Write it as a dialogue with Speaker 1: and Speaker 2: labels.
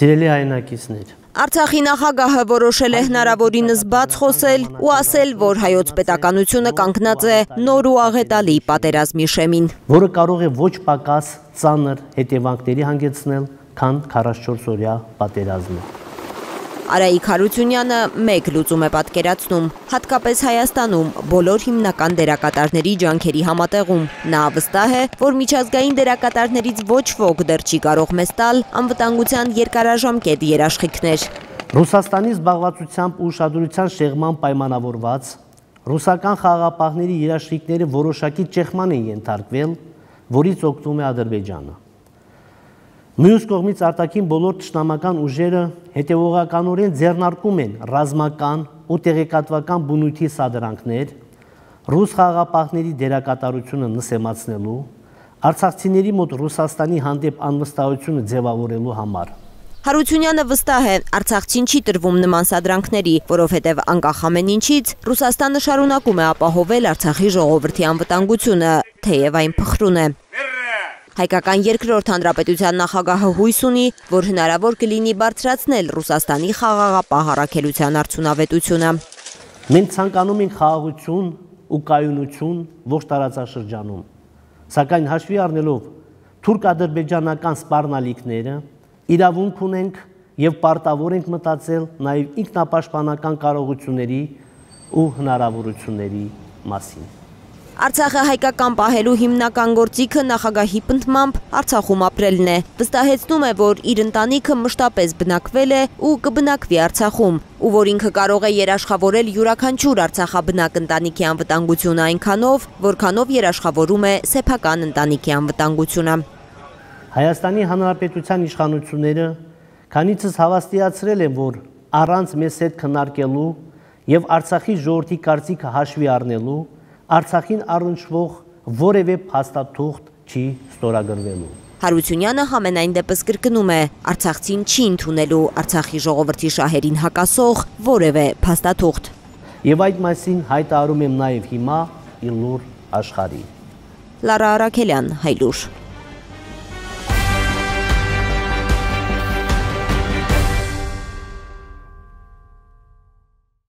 Speaker 1: Սիրելի հայրենակիցներ,
Speaker 2: Արցախի նախագահը որոշել է հնարավորինս բաց խոսել ու ասել, որ հայոց պետականությունը կանգնած է նոր ու աղետալի պատերազմի շեմին,
Speaker 1: որը կարող է ոչ պակաս ծանր հետևանքների հանգեցնել, քան 44-օրյա պատերազմը։
Speaker 2: Արայիկ Հարությունյանը մեկ լուծում է պատկերացնում, հատկապես Հայաստանում բոլոր հիմնական դերակատարների ջանքերի համատեղում։ Նա վստահ է, որ միջազգային դերակատարներից ոչ ոք դեռ չի կարող մեզ տալ անվտանգության երկարաժամկետ երաշխիքներ։
Speaker 1: Ռուսաստանի զբաղվածությամբ ու ուշադրության շեղման պայմանավորված ռուսական խաղաղապահների երաշխիքները որոշակի ճեղման են ենթարկվել, որից օգտվում է Ադրբեջանը։ Մյուս կողմից արտաքին բոլոր թշնամական ուժերը հետևողականորեն ձեռնարկում են ռազմական ու տեղեկատվական բնույթի սադրանքներ, ռուս խաղաղապահների դերակատարությունը նսեմացնելու, արցախցիների մոտ Ռուսաստանի հանդեպ անվստահությունը ձևավորելու համար։
Speaker 2: Հարությունյանը վստահ է, Արցախցին չի տրվում նման սադրանքների, որովհետև անկախ ամեն ինչից Ռուսաստանը շարունակում է ապահովել Արցախի ժողովրդի անվտանգությունը, թեև այն փխրուն է։ Հայկական երկրորդ հանրապետության նախագահը հույս ունի, որ հնարավոր կլինի բարձրացնել Ռուսաստանի խաղաղապահ առաքելության արդյունավետությունը։
Speaker 1: Մենք ցանկանում ենք խաղաղություն ու կայունություն ողջ տարածաշրջանում, սակայն հաշվի առնելով թուրք-ադրբեջանական սպառնալիքները, իրավունք ունենք եւ պարտավոր ենք մտածել նաեւ ինքնապաշտպանական կարողությունների ու հնարավորությունների մասին։
Speaker 2: Արցախը հայկական պահելու հիմնական գործիքը նախագահի պնդմամբ Արցախում ապրելն է։ Վստահեցնում է, որ իր ընտանիքը մշտապես բնակվել է ու կբնակվի Արցախում, ու որ ինքը կարող է երաշխավորել յուրաքանչյուր արցախաբնակ ընտանիքի անվտանգությունը այնքանով, որքանով երաշխավորում է սեփական ընտանիքի անվտանգությունը։
Speaker 1: Հայաստանի Հանրապետության իշխանությունները քանիցս հավաստիացրել են, որ առանց մեզ հետ քննարկելու եւ Արցախի ժողովրդի կարծիքը հաշվի առնելու Արցախին առնչվող որևէ փաստաթուղթ չի ստորագրվելու։
Speaker 2: Հարությունյանը համենայն դեպս կրկնում է, Արցախցին չի ընդունելու Արցախի ժողովրդի շահերին հակասող որևէ փաստաթուղթ։
Speaker 1: Եվ այդ մասին հայտարարում եմ նաև հիմա իր լուր աշխարհի։
Speaker 2: Լարա Արաքելյան, Հայլուր։